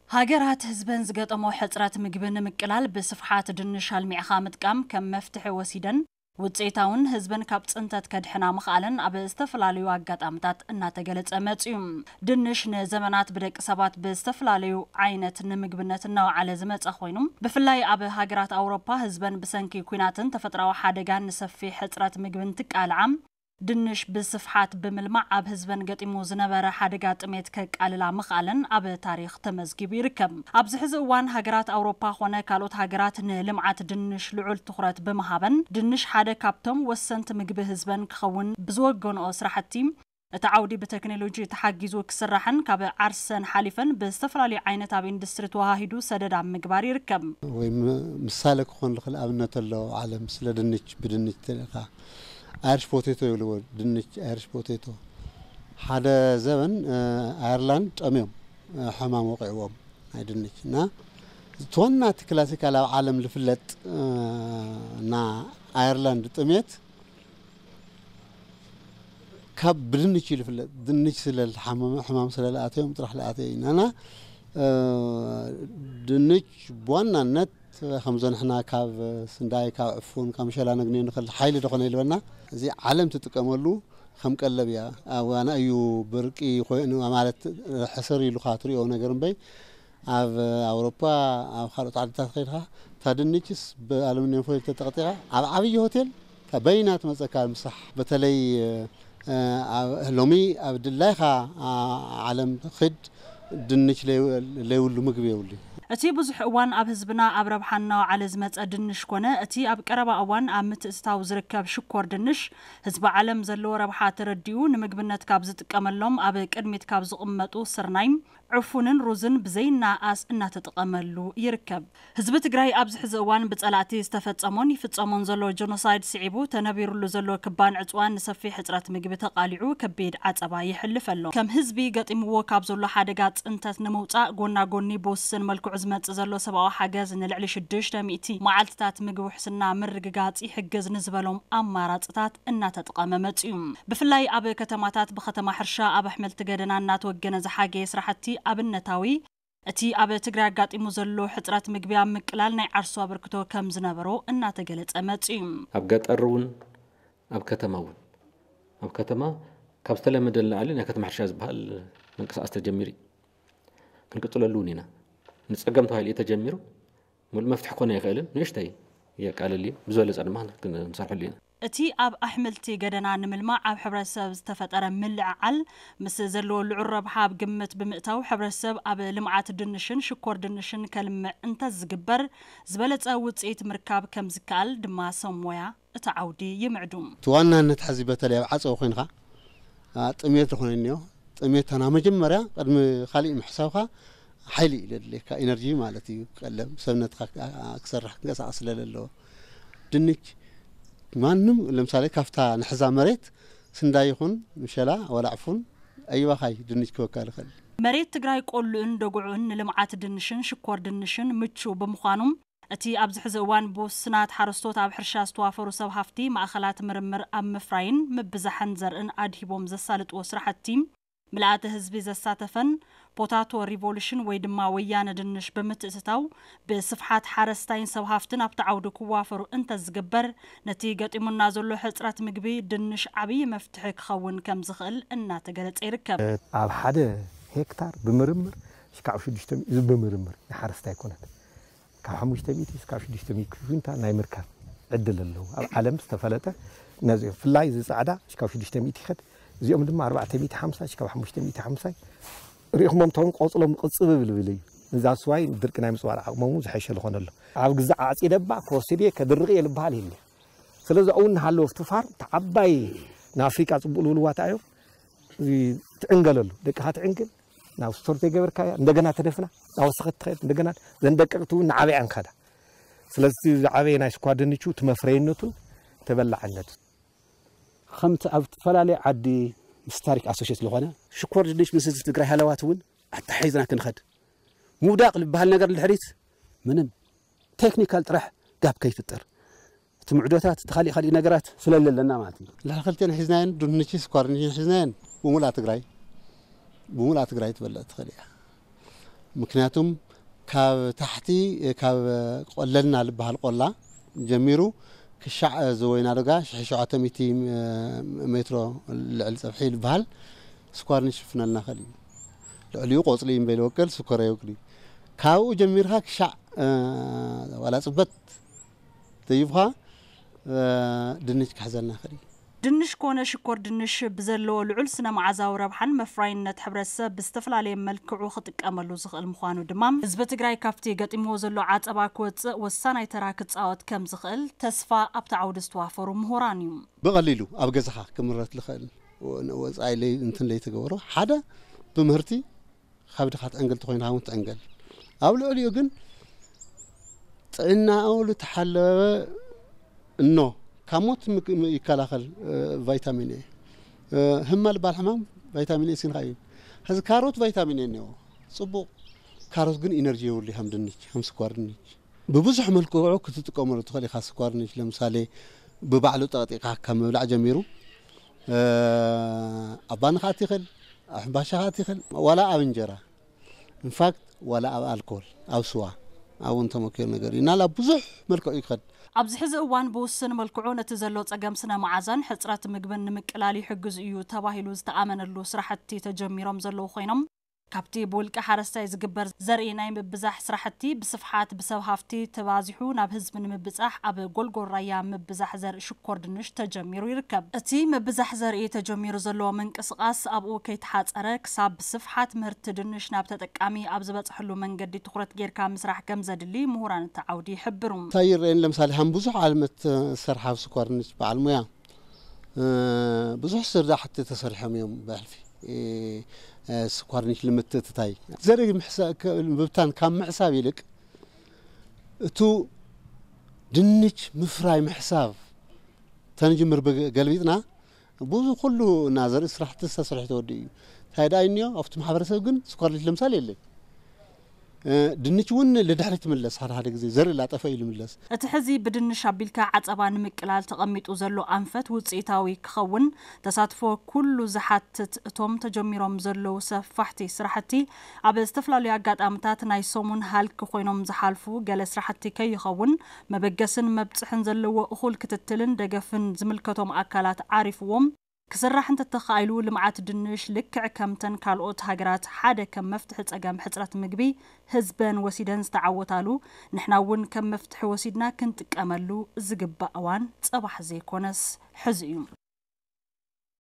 ሃገራት ህዝበን ዝገጠሞ ሕጽረት ምግቢ ንምቅላል ብስፍሓት ድንሽ ኣልሚዕኻ ምጥቃም ከም መፍትሒ ወሲደን ውጽኢታውን ህዝበን ካብ ጽንተት ከድሕና ምኽኣለን ኣብ ዝተፈላለዩ ኣጋጣምታት እናተገለጸ መጽዩ። ድንሽ ንዘመናት ብደቂ ሰባት ብዝተፈላለዩ ዓይነት ንምግብነት እናወዓለ ዝመጸ ኮይኑ፣ ብፍላይ ኣብ ሃገራት ኣውሮፓ ህዝበን ብሰንኪ ኲናትን ተፈጥራዊ ሓደጋን ንሰፊሕ ሕጽረት ምግቢ እንትቃልዓ፣ ድንሽ ብስፍሓት ብምልማዕ ኣብ ህዝበን ገጢሙ ዝነበረ ሓደጋ ጥሜት ከቃልላ ምኽኣለን ኣብ ታሪኽ ተመዝጊቡ ይርከብ። ኣብዚ ሕዚ እዋን ሃገራት ኣውሮፓ ኾነ ካልኦት ሃገራት ንልምዓት ድንሽ ልዑል ትኹረት ብምሃበን፣ ድንሽ ሓደ ካብቶም ወሰንቲ ምግቢ ህዝበን ክኸውን ብዝወገንኦ ስራሕቲ፣ እቲ ዓውዲ ብቴክኖሎጂ ተሓጊዙ ክስራሕን ካብ ዓርሰን ሓሊፈን ብዝተፈላለዩ ዓይነት ኣብ ኢንዱስትሪ ተወሃሂዱ ሰደድ ኣብ ምግባር ይርከብ። ወይ ም-፣ ምሳሌ ክኾን ዝኽእል ኣብነት ኣሎ ዓለም ስለ ድንች፣ ብድንች ተልእኻ ኣይርሽ ፖቴቶ ይብልዎ፣ ድንች ኣይርሽ ፖቴቶ። ሓደ ዘበን፣ እ፣ ኣየርላንድ ጠምዮም፣ እ፣ ሕማም ወቂዕዎም ናይ ድንች። እና እቲ ዋና እቲ ክላሲካል ኣብ ዓለም ዝፍለጥ፣ እ፣ እና ኣየርላንድ ጥሜት ካብ ብድንች እዩ ዝፍለጥ። ድንች ስለ ዝሓመመ፣ ሕማም ስለ ዝኣተዮም ጥራሕ ዝኣተየ እዩ። ናና፣ እ፣ ድንች ብዋናነት ከምዞ ንሕና ካብ ስንዳይ፣ ካብ ዕፉን፣ ካብ ምሸላ ነግንዮ ንኽእል ሓይሊ ዝኾነ ይልበና። እዚ ዓለም ትጥቀመሉ ከም ቀለብ እያ። ኣብ ዋና እዩ ብርቂ ኮይኑ፣ ማለት ሕስር ኢሉኻ ትሪኦ ነገር እምበይ፣ ኣብ ኣውሮፓ፣ ኣብ ካልኦት ዓድታት ከይድካ፣ እታ ድንችስ ብኣሉሚንየም ፎይል ተጠቕጢቓ፣ ኣብ ዓብዪ ሆቴል፣ እታ በይና ትመጸካ ምሳሕ። በተለይ፣ እ፣ ኣብ፣ ሎሚ ኣብ ድላይኻ፣ ኣ፣ ዓለም ኽድ፣ ድንች ለይ-፣ ለይብሉ ምግቢ የብሉ። እቲ ብዙሕ እዋን ኣብ ህዝብና ኣብ ረብሓ እናወዓለ ዝመጸ ድንሽ ኮነ፣ እቲ ኣብ ቀረባ እዋን ኣብ ምትእትታው ዝርከብ ሽኮር ድንሽ፣ ህዝቢ ዓለም ዘለዎ ረብሓ ተረዲኡ፣ ንምግብነት ካብ ዝጥቀመሎም ኣብ ቅድሚት ካብ ዝቕመጡ ስርናይ፣ ዕፉንን ሩዝን ብዘይናኣስ እናተጠቐመሉ ይርከብ። ህዝቢ ትግራይ ኣብዚ ሕዚ እዋን ብጸላእቲ ዝተፈጸሞን ይፍጸሞን ዘሎ ጀኖሳይድ ስዒቡ ተነቢሩሉ ዘሎ ክባን ዕጽዋን ንሰፊሕ ሕጽረት ምግቢ ተቓሊዑ ከቢድ ዓጸባ የሕልፍ ኣሎ። ከም ህዝቢ ገጢምዎ ካብ ዘሎ ሓደጋ ጽንተት ንምውጻእ ጎና ጎኒ ብውስን መልክዑ ዝመጽእ ዘሎ ሰብኣዊ ሓገዝ ንልዕሊ ሽዱሽተ ሚእቲ መዓልትታት ምግቢ ውሕስና ምርግጋጽ ይሕግዝ ንዝበሎም ኣማራጽታት እናተጠቐመ መጽዩ። ብፍላይ ኣብ ከተማታት ብከተማ ሕርሻ ኣብ ኣሕምልቲ ገደና እናተወገነ ዝሓገየ ስራሕቲ ኣብነታዊ፣ እቲ ኣብ ትግራይ ኣጋጢሙ ዘሎ ሕጽረት ምግቢ ኣብ ምቅላል ናይ ዓርሱ ኣበርክቶ ከም ዝነበሮ እናተገለጸ መጽዩ። ኣብ ገጠር እውን ኣብ ከተማ እውን፣ ኣብ ከተማ ካብ ዝተለመደ ንላዕሊ ናይ ከተማ ሕርሻ ዝበሃል ምንቅስቃስ ተጀሚሩ እዩ። ክንቅጽለሉ እውን ኢና። ንጸገም ተባሂሉ እዩ ተጀሚሩ። ሙሉእ መፍትሒ ክኾን ኣይኽእልን። ንእሽተይ የቃልል እዩ። ብዝበለጸ ድማ ክንሰርሐሉ ኢና። እቲ ኣብ ኣሕምልቲ ገደና ንምልማዕ ኣብ ሕብረተሰብ ዝተፈጠረ ምልዕዓል፣ ምስ ዘለዎ ልዑል ረብሓ ኣብ ግምት ብምእታው፣ ሕብረተሰብ ኣብ ልምዓት ድንሽን ሽኮር ድንሽን ከልምዕ እንተዝግበር፣ ዝበለጸ ውጽኢት ምርካብ ከም ዝከኣል ድማ ሰብ ሞያ እቲ ዓውዲ ይምዕዱ። እቲ ዋናነት ሕዚ በተለይ ኣብ ዓጸው ኮይንካ፣ ኣ፣ ጥሜት ዝኾነ እኒኦ። ጥሜት ታና መጀመርያ ቅድሚ ካሊእ ምሕሳብካ ሓይሊ እዩ ዘድልየካ፣ ኢነርጂ ማለት እዩ። ቀለም ሰብነትካ ክሰርሕ ክንቀሳቐስ ስለ ዘለዎ። ድንች ማንም ለምሳሌ ካብታ ንሕዛ መሬት ስንዳይ ይኹን ምሸላ ዋላ ዕፉን ኣይባኻይ ድንች ክወካ ይኽእል። መሬት ትግራይ ቆልኡን ደጉዑን ንልምዓት ድንሽን ሽኮር ድንሽን ምቹው ብምዃኑ፣ እቲ ኣብዚ ሕዚ እዋን ብውስናት ሓረስቶት ኣብ ሕርሻ ዝተዋፈሩ ሰብ ሃፍቲ ማእኸላት ምርምር ኣብ ምፍራይን ምብዛሕን ዘርእን ኣድሂቦም ዘሳልጥዎ ስራሕቲ፣ ምልኣተ ህዝቢ ዘሳተፈን ፖታቶ ሪቮሉሽን ወይ ድማ ወያነ ድንሽ ብምትእትታው ብስፍሓት ሓረስታይን ሰብ ሃፍትን ኣብቲ ዓውዲ ክዋፈሩ እንተዝግበር፣ ነቲ ገጢሙና ዘሎ ሕፅረት ምግቢ ድንሽ ዓብዪ መፍትሒ ክኸውን ከም ዝኽእል እናተገለጸ ይርከብ። ኣብ ሓደ ሄክታር ብምርምር ሽካዕ ሽዱሽተ ሚእቲ፣ እዚ ብምርምር ንሓረስታይ ኣይኮነን። ካብ ሓሙሽተ ሚእቲ እስካብ ሽዱሽተ ሚእቲ ኩንታል ናይ ምርካብ ዕድል ኣለዎ። ኣብ ዓለም ዝተፈለጠ ነዚ ፍላይ እዚ ጻዕዳ እስካብ ሽዱሽተ ሚእቲ ይኸድ። እዚኦም ድማ ኣርባዕተ ሚእቲ ሓምሳ እስካብ ሓሙሽተ ሚእቲ ሓምሳ ርኢኹሞም፣ እቶም ቆጽሎም ቅጽብብልብል እዩ። እዛ ስዋይ ድርቂ ናይ ምጽዋር ዓቕሞም እውን ዝሐሸ ዝኾነ ኣሎ። ኣብ ግዛዕ ዓጺደ እባ ክወስድ እየ፣ ከድርቕ እየ ልበሃል የለ። ስለዚ ኣብኡ እናሃለወ ኣብቲ ፋርም፣ እቲ ዓባይ ንኣፍሪቃ ጽቡቕ ልብልዋ እንታይ እዮም? እዚ ትዕንገለሉ፣ ደቅኻ ትዕንግል፣ ናብ ስቶር ዘይገበርካያ፣ እንደገና ተደፍና፣ ናብ ወሰኸት ትኸድ፣ እንደገና ዘን ደቀቕቲ እውን ንዓበያ እንከዳ። ስለዚ ዝዓበየ ናይ ስኳር ድንቹ እቲ መፍረይነቱን ተበላዕነቱ። ከምቲ ኣብ ዝተፈላለየ ዓዲ ምስ ታሪክ ኣሶሽየት ዝኾነ፣ ሽኮር ድንች ምስ ህዝቢ ትግራይ ሃለዋት እውን ኣተሓሒዝና ክንኸድ። ምውዳቕ ዝበሃል ነገር ንድሕሪት ምንም ቴክኒካል ጥራሕ ጋፕ ከይፍጠር። እቲ ምዕዶታት፣ እቲ ካሊእ ካሊእ ነገራት ስለለለና ማለት እዩ። ልዕሊ ክልቴን ሒዝናየን፣ ድንች ስኳር ድንች ሒዝናየን፣ ብሙልኣ ትግራይ፣ ብሙልኣ ትግራይ ትበልዕ ትኽእል እያ። ምክንያቱም ካብ ታሕቲ ካብ ቆለልና ዝበሃል ቆላ ጀሚሩ ክሻዕ ዝወይና ደጋ ሽሕ ሸውዓተ ሚእቲ ሜትሮ ልዕሊ ጸፍሒ ዝበሃል ስኳር ንሽፍነልና ኸእል እዩ። ልዕሊኡ ቆጽሊ እምበይል ወቀል ስኮር ይወቅል እዩ። ካብኡ ጀሚርካ ክሻዕ ዋላ ጽበት ተይብኻ ድንች ክሕዘልና ኸእል እዩ። ድንሽ ኮነ ሽኮር ድንሽ ብዘለዎ ልዑል ስነ መዓዛዊ ረብሓን መፍራይነት ሕብረተሰብ ብዝተፈላለየ መልክዑ ክጥቀመሉ ዝኽእል ምዃኑ ድማ ህዝቢ ትግራይ ካብቲ ገጢምዎ ዘሎ ዓፀባ ክወፅእ ወሳናይ ተራ ክፃወት ከም ዝኽእል ተስፋ ኣብቲ ዓውዲ ዝተዋፈሩ ምሁራን እዩ። ብቐሊሉ ኣብ ገዛኻ ክምረት ዝኽእል ወፃኢ እንትን ለይተገበሮ ሓደ ብምህርቲ ካብ ድኻ ትዕንገል ተኾይንካ እውን ትዕንገል። ኣብ ልዕሊኡ ግን ጥዕናኡ ዝተሓለወ እኖ ካብ ሞት ይከላኸል። ቫይታሚን ኤ ህማ ልባል ሕማም ቫይታሚን ኤ ሲንካ እዩ። ሕዚ ካሮት ቫይታሚን ኤ እኒዎ ፅቡቕ። ካሮት ግን ኢነርጂ የብሉ ከም ድንች ከም ስኳር ድንች ብብዙሕ መልክዑ ክትጥቀመሉ ትኽእል ኢኻ። ስኳር ድንች ለምሳሌ ብባዕሉ ጠቕጢቕካ ካብ ምብላዕ ጀሚሩ ኣብ ባኒ ክኣቲ ይኽእል፣ ኣብ ሕምባሻ ክኣቲ ይኽእል፣ ዋላ ኣብ እንጀራ ኢንፋክት ዋላ ኣብ ኣልኮል ኣብ ስዋ ኣብውን ተመኪሩ ነገር እዩ ናላ ብዙሕ መልክዑ ይኸድ። ኣብዚ ሕዚ እዋን ብውስን መልክዑ ነቲ ዘሎ ጸገም ስነ መዓዛን ሕጽረት ምግብን ንምቅላል ይሕግዝ እዩ ተባሂሉ ዝተኣመነሉ ስራሕቲ ተጀሚሮም ዘለዉ ኮይኖም ካብቲ ብውልቂ ሓረስታይ ዝግበር ዘርኢ ናይ ምብዛሕ ስራሕቲ ብስፍሓት ብሰብ ሃፍቲ ተባዚሑ ናብ ህዝቢ ንምብፃሕ ኣብ ጎልጎል ራያ ምብዛሕ ዘርኢ ሽኮር ድንሽ ተጀሚሩ ይርከብ። እቲ ምብዛሕ ዘርኢ ተጀሚሩ ዘሎ ምንቅስቓስ ኣብኡ ከይተሓፀረ ክሳብ ብስፍሓት ምህርቲ ድንሽ ናብ ተጠቃሚ ኣብ ዝበፅሐሉ መንገዲ ትኹረት ጌርካ ምስራሕ ከም ዘድሊ ምሁራን እቲ ዓውዲ ይሕብሩ። እንታይ ይረአን ለምሳሌ ከም ብዙሕ ዓለመት ሰርሓ ስኳር ድንሽ በዓል ሙያ ብዙሕ ስርዳሕቲ ተሰሪሖም እዮም ብሕልፊ ስኳር ድንሽ ንምትእትታይ ዘርኢ ምብታን ካብ ምሕሳብ ይልቅ እቱ ድንች ምፍራይ ምሕሳብ ተንጅምር ገልቢጥና ብዙ ኩሉ እና ዘርኢ ስራሕቲ ዝተሰርሑ ተወዲ እዩ። እንታይ ደኣ እኒዮ ኣብቲ ማሕበረሰብ ግን ስኳር ድንች ለምሳሌ የለን። ድንች እውን ልድሕሪ ትምለስ ሓደ ሓደ ግዜ ዘርኢ ላጠፈ እዩ ልምለስ። እቲ ሕዚ ብድንሽ ኣቢልካ ዓፀባ ንምቅላል ተቐሚጡ ዘሎ ኣንፈት ውፅኢታዊ ክኸውን ተሳትፎ ኩሉ ዝሓትት እቶም ተጀሚሮም ዘለዉ ሰፋሕቲ ስራሕቲ ኣብ ዝተፈላለዩ ኣጋጣምታት ናይ ሰሙን ሃልኪ ኮይኖም ዝሓልፉ ገለ ስራሕቲ ከይኸውን መበገስን መብፅሕን ዘለዎ እኹል ክትትልን ደገፍን ዝምልከቶም ኣካላት ዓሪፍዎም ክስራሕ እንተተኻኢሉ ልምዓት ድንሽ ልክዕ ከምተን ካልኦት ሃገራት ሓደ ከም መፍትሒ ፀገም ሕፅረት ምግቢ ህዝበን ወሲደን ዝተዓወታሉ ንሕና እውን ከም መፍትሒ ወሲድና ክንጥቀመሉ ዝግባእ እዋን ፅባሕ ዘይኮነስ ሕዚ እዩ።